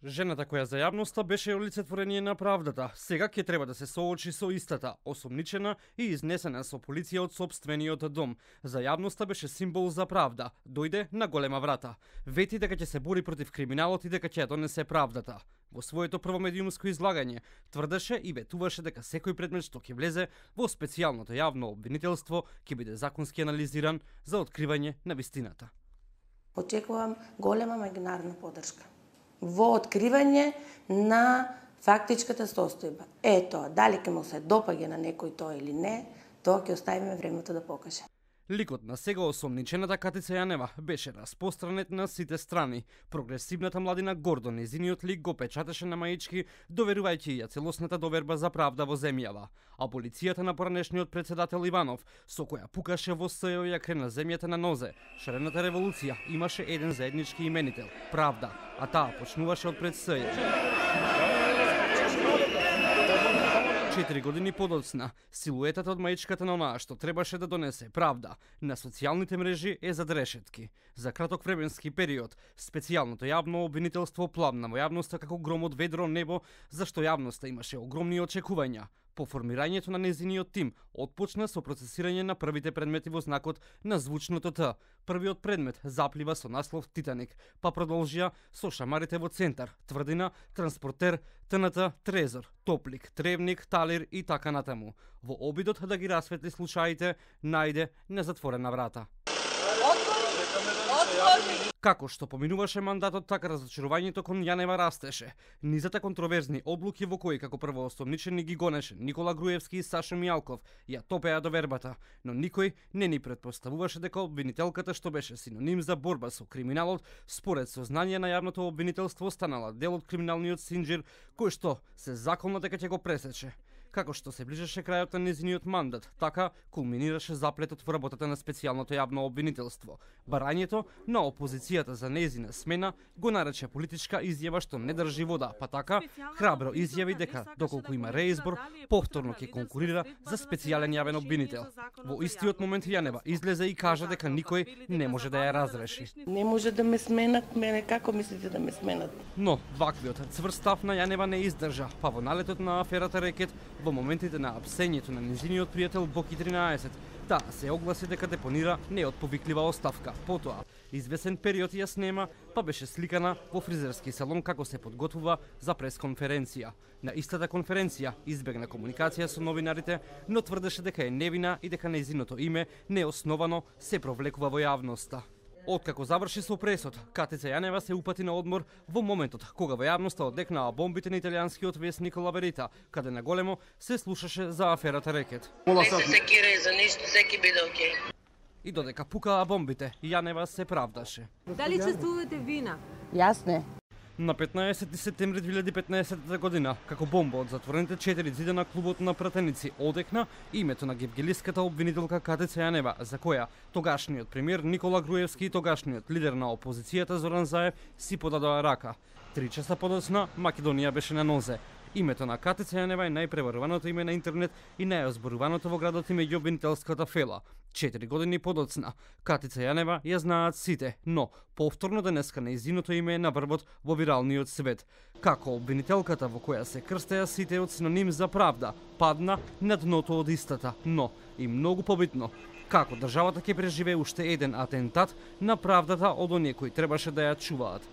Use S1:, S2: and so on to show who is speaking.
S1: Жената која за јавноста беше олицетворение на правдата, сега ќе треба да се соочи со истата, осомничена и изнесена со полиција од сопствениот дом. За јавноста беше символ за правда, дојде на голема врата. Вети дека ќе се бори против криминалот и дека ќе ја донесе правдата. Во своето прво медиумско излагање тврдеше и ветуваше дека секој предмет што ќе влезе во специјалното јавно обвинителство ќе биде законски анализиран за откривање на вистината.
S2: Очекувам голема имагинарна поддршка во откривање на фактичката состојба. Ето, дали ќе му се допаѓа на некој тоа или не, тоа ќе оставиме времето да покаже.
S1: Ликот на сега осомничената Катица Јанева беше распространет на сите страни. Прогресивната младина гордо незиниот лик го печатеше на маички, доверувајќи ја целосната доверба за правда во земјава. А полицијата на поранешниот председател Иванов, со која пукаше во СЈО ја крена земјата на нозе. Шарената револуција имаше еден заеднички именител – правда, а таа почнуваше од пред СЈО. 4 години подоцна, силуетата од маичката на онаа што требаше да донесе правда на социјалните мрежи е зад решетки. За краток временски период, специјалното јавно обвинителство пламна во јавноста како гром од ведро небо, зашто јавноста имаше огромни очекувања. По формирањето на незиниот тим, отпочна со процесирање на првите предмети во знакот на звучното Т. Првиот предмет заплива со наслов Титаник, па продолжија со шамарите во центар, тврдина, транспортер, ТНТ, трезор, топлик, тревник, талир и така натаму. Во обидот да ги расветли случаите, најде незатворена врата. Како што поминуваше мандатот, така разочарувањето кон Јанева растеше. Низата контроверзни одлуки во кои како првоосомничени ги гонеше Никола Груевски и Сашо Мијалков ја топеа довербата, но никој не ни претпоставуваше дека обвинителката што беше синоним за борба со криминалот, според сознание на јавното обвинителство станала дел од криминалниот синџир кој што се заколна дека ќе го пресече. Како што се ближеше крајот на незиниот мандат, така кулминираше заплетот во работата на специјалното јавно обвинителство. Барањето на опозицијата за незина смена го нарече политичка изјава што не држи вода, па така храбро изјави дека доколку има реизбор, повторно ќе конкурира за специјален јавен обвинител. Во истиот момент Јанева излезе и кажа дека никој не може да ја разреши.
S2: Не може да ме сменат, мене како мислите да ме сменат?
S1: Но ваквиот цврст став на Јанева не издржа, па во налетот на аферата Рекет, во моментите на апсењето на незиниот пријател Боки 13, таа се огласи дека депонира неотповиклива оставка. Потоа, извесен период ја снема, па беше сликана во фризерски салон како се подготвува за пресконференција. На истата конференција избегна комуникација со новинарите, но тврдеше дека е невина и дека незиното име неосновано се провлекува во јавноста. Откако заврши со пресот, Катица Јанева се упати на одмор во моментот кога во јавноста одекнаа бомбите на италијанскиот весник La Verità, каде на големо се слушаше за аферата Рекет.
S3: Не се секирај за ништо, секи биде окей.
S1: И додека пукаа бомбите, Јанева се правдаше.
S4: Дали чувствувате вина?
S2: Јас не.
S1: На 15 септември 2015 година, како бомба од затворените 4 ѕида на клубот на пратеници одекна името на гевгелиската обвинителка Катица Јанева, за која тогашниот премиер Никола Груевски и тогашниот лидер на опозицијата Зоран Заев си подадоа рака. 3 часа подоцна Македонија беше на нозе. Името на Катица Јанева е најпреваруваното име на интернет и најозборуваното во градот и меѓу обвинителската фела. 4 години подоцна, Катица Јанева ја знаат сите, но повторно денеска нејзиното име е на врвот во виралниот свет. Како обвинителката во која се крстеа сите од синоним за правда, падна на дното од истата, но и многу побитно, како државата ќе преживее уште еден атентат на правдата од оние кои требаше да ја чуваат.